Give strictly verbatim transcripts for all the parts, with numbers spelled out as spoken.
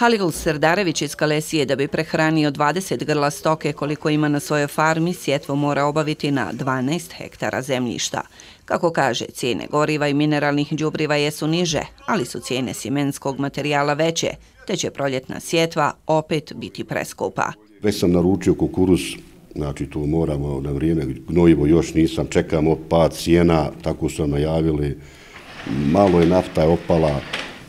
Halil Serdarević iz Kalesije da bi prehranio dvadeset grla stoke koliko ima na svojoj farmi, sjetvu mora obaviti na dvanaest hektara zemljišta. Kako kaže, cijene goriva i mineralnih đubriva jesu niže, ali su cijene sjemenskog materijala veće, te će proljetna sjetva opet biti preskupa. Već sam naručio kukuruz, znači tu moramo na vrijeme, gnojivo još nisam, čekamo pad cijena, tako su nam najavili, malo je nafta opala.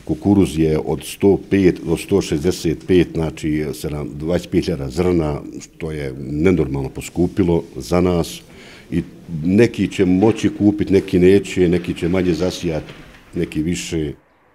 Kukuruz je od sto pet do sto šezdeset pet, znači dvadeset pet hiljada zrna, što je nenormalno poskupilo za nas. I neki će moći kupiti, neki neće, neki će manje zasijati, neki više.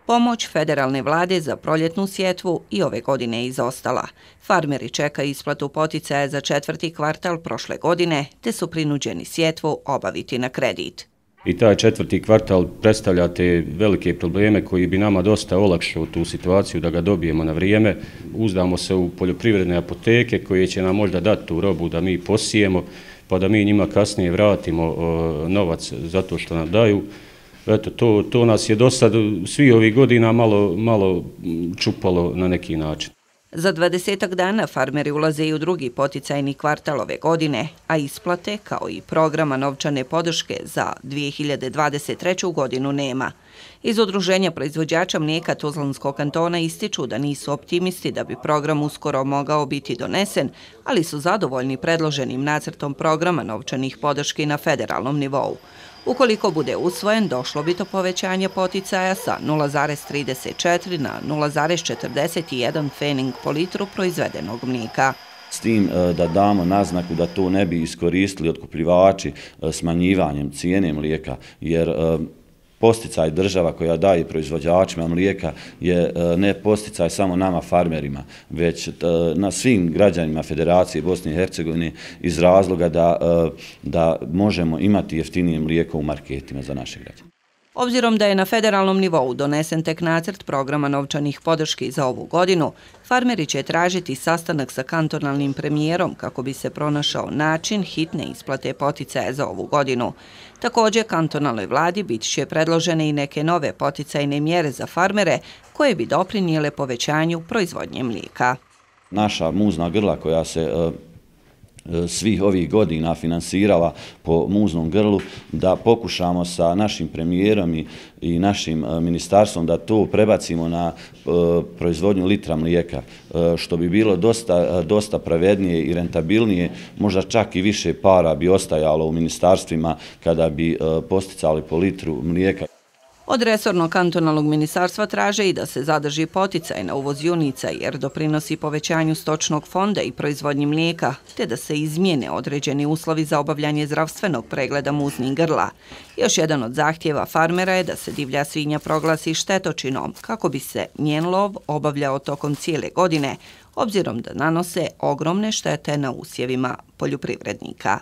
Pomoć federalne vlade za proljetnu sjetvu i ove godine je izostala. Farmeri čekaju isplatu poticaja za četvrti kvartal prošle godine, te su prinuđeni sjetvu obaviti na kredit. I taj četvrti kvartal predstavlja te velike probleme koji bi nama dosta olakšao tu situaciju da ga dobijemo na vrijeme. Uzdamo se u poljoprivredne apoteke koje će nam možda dati tu robu da mi posijemo, pa da mi njima kasnije vratimo novac za to što nam daju. Eto, to, to nas je do sad svi ovih godina malo, malo čupalo na neki način. Za dvadesetak dana farmeri ulaze i u drugi poticajni kvartal ove godine, a isplate, kao i programa novčane podrške za dvije hiljade dvadeset treću godinu nema. Iz Udruženja proizvođača mlijeka Tuzlanskog kantona ističu da nisu optimisti da bi program uskoro mogao biti donesen, ali su zadovoljni predloženim nacrtom programa novčanih podrški na federalnom nivou. Ukoliko bude usvojen, došlo bi do povećanja poticaja sa nula zarez trideset četiri na nula zarez četrdeset jedan pfening po litru proizvedenog mlijeka. S tim da damo naznaku da to ne bi iskoristili otkupljivači smanjivanjem cijene mlijeka, jer posticaj država koja daje proizvođačima mlijeka je ne posticaj samo nama farmerima, već na svim građanima Federacije Bosne i Hercegovine iz razloga da, da možemo imati jeftinije mlijeko u marketima za naše građane. Obzirom da je na federalnom nivou donesen tek nacrt programa novčanih podrški za ovu godinu, farmeri će tražiti sastanak sa kantonalnim premijerom kako bi se pronašao način hitne isplate poticaja za ovu godinu. Također, kantonalnoj vladi bit će predložene i neke nove poticajne mjere za farmere koje bi doprinijele povećanju proizvodnje mlijeka. Naša muzna grla koja se svih ovih godina finansirala po muznom grlu, da pokušamo sa našim premijerom i, i našim ministarstvom da to prebacimo na e, proizvodnju litra mlijeka, e, što bi bilo dosta, dosta pravednije i rentabilnije, možda čak i više para bi ostajalo u ministarstvima kada bi e, posticali po litru mlijeka. Od resornog kantonalnog ministarstva traže i da se zadrži poticaj na uvoz junica jer doprinosi povećanju stočnog fonda i proizvodnji mlijeka, te da se izmijene određeni uslovi za obavljanje zdravstvenog pregleda muznih grla. Još jedan od zahtjeva farmera je da se divlja svinja proglasi štetočinom kako bi se njen lov obavljao tokom cijele godine, obzirom da nanose ogromne štete na usjevima poljoprivrednika.